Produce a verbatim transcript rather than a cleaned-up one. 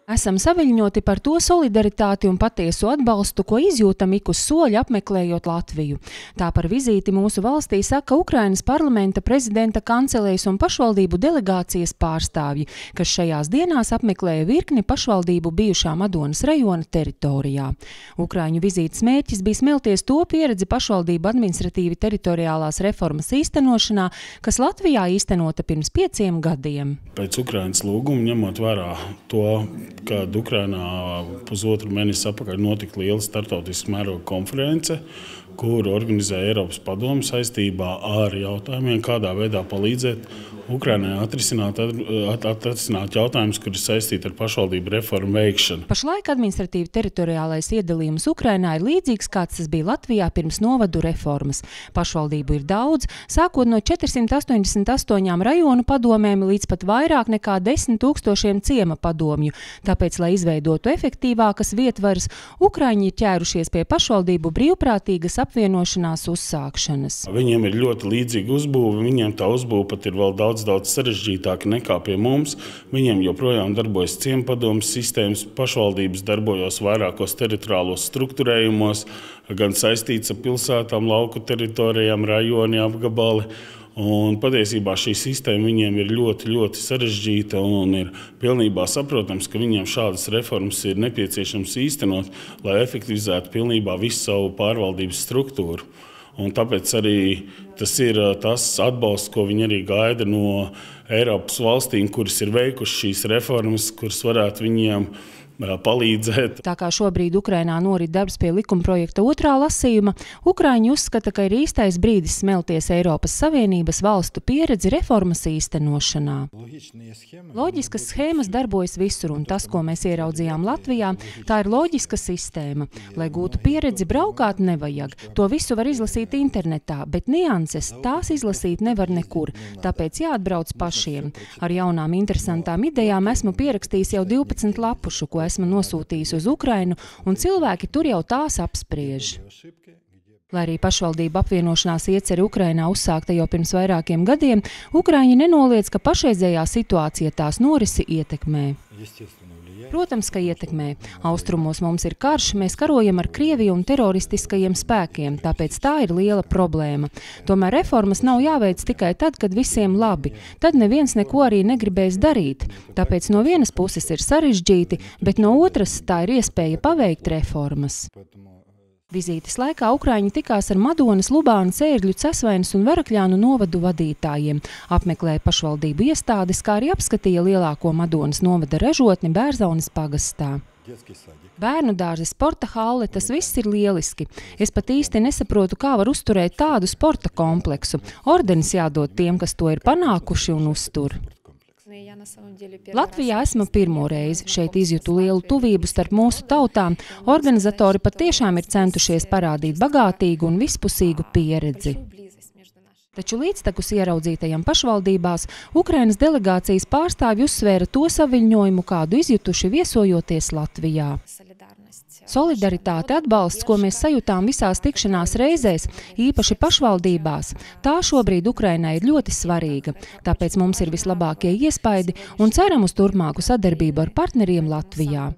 Esam saviļņoti par to solidaritāti un patiesu atbalstu, ko izjūtam ik uz soļa apmeklējot Latviju. Tā par vizīti mūsu valstī saka Ukrainas parlamenta, prezidenta kancelējas un pašvaldību delegācijas pārstāvji, kas šajās dienās apmeklēja virkni pašvaldību bijušā Madonas rajona teritorijā. Ukraiņu vizītes mērķis bija smelties to pieredzi pašvaldību administratīvi teritoriālās reformas īstenošanā, kas Latvijā īstenota pirms pieciem gadiem. Pēc Ukrainas lūguma, ņemot vērā to, kad Ukrainā pusotru mēnesi atpakaļ notika liela starptautiska mēroga konference, kuru organizēja Eiropas padome saistībā ar jautājumiem, kādā veidā palīdzēt Ukrainai atrisināt, atrisināt jautājumus, kuri saistīti ar pašvaldību reformu veikšanu. Pašlaik administratīvi teritoriālais iedalījums Ukrainā ir līdzīgs, kāds tas bija Latvijā pirms novadu reformas. Pašvaldību ir daudz, sākot no četrsimt astoņdesmit astoņām rajonu padomēm līdz pat vairāk nekā desmit tūkstošiem ciema padomju. Tāpēc, lai izveidotu efektīvākas vietvaras, Ukraiņi ir ķērušies pie pašvaldību brīvprātīgas apvienošanās uzsākšanas. Viņiem ir ļoti līdzīga uzbūve, viņiem tā uzbūve pat ir vēl daudz daudz sarežģītāki nekā pie mums. Viņiem joprojām darbojas ciempadomes sistēmas, pašvaldības darbojos vairākos teritoriālos struktūrējumos, gan saistīts ar pilsētām, lauku teritorijām, rajoni, apgabali. Un patiesībā šī sistēma viņiem ir ļoti, ļoti sarežģīta un ir pilnībā saprotams, ka viņiem šādas reformas ir nepieciešams īstenot, lai efektivizētu pilnībā visu savu pārvaldības struktūru. Un tāpēc arī tas ir tas atbalsts, ko viņi arī gaida no Eiropas valstīm, kuras ir veikušas šīs reformas, kuras varētu viņiem palīdzēt. Tā kā šobrīd Ukrainā norit darbs pie likumprojekta otrā lasījuma, Ukraiņi uzskata, ka ir īstais brīdis smelties Eiropas Savienības valstu pieredzi reformas īstenošanā. Loģiskas schēmas darbojas visur, un tas, ko mēs ieraudzījām Latvijā, tā ir loģiska sistēma. Lai gūtu pieredzi, braukāt nevajag. To visu var izlasīt internetā, bet nianses tās izlasīt nevar nekur, tāpēc jāatbrauc pašiem. Ar jaunām interesantām idejām esmu pierakstījis jau divpadsmit lapušu, ko esmu nosūtījis uz Ukrainu, un cilvēki tur jau tās apspriež. Lai arī pašvaldību apvienošanās ieceri Ukrainā uzsākta jau pirms vairākiem gadiem, Ukraiņi nenoliedz, ka pašreizējā situācija tās norisi ietekmē. Protams, ka ietekmē. Austrumos mums ir karš, mēs karojam ar Krieviju un teroristiskajiem spēkiem, tāpēc tā ir liela problēma. Tomēr reformas nav jāveic tikai tad, kad visiem labi. Tad neviens neko arī negribēs darīt. Tāpēc no vienas puses ir sarežģīti, bet no otras tā ir iespēja paveikt reformas. Vizītes laikā Ukraiņi tikās ar Madonas, Lubānas, Ērgļu, Cesvainas un Varakļānu novadu vadītājiem, apmeklēja pašvaldību iestādes, kā arī apskatīja lielāko Madonas novada ražotni Bērzaunes pagastā. Bērnu dārzi, sporta halle, tas viss ir lieliski. Es pat īsti nesaprotu, kā var uzturēt tādu sporta kompleksu. Ordenis jādod tiem, kas to ir panākuši un uztur. Latvijā esmu pirmo reizi. Šeit izjūtu lielu tuvību starp mūsu tautām. Organizatori patiešām ir centušies parādīt bagātīgu un vispusīgu pieredzi. Taču līdztekus ieraudzītajām pašvaldībās Ukrainas delegācijas pārstāvji uzsvēra to saviļņojumu, kādu izjutuši viesojoties Latvijā. Solidaritāte, atbalsts, ko mēs sajūtām visās tikšanās reizēs, īpaši pašvaldībās, tā šobrīd Ukrainai ir ļoti svarīga. Tāpēc mums ir vislabākie iespaidi un ceram uz turpmāku sadarbību ar partneriem Latvijā.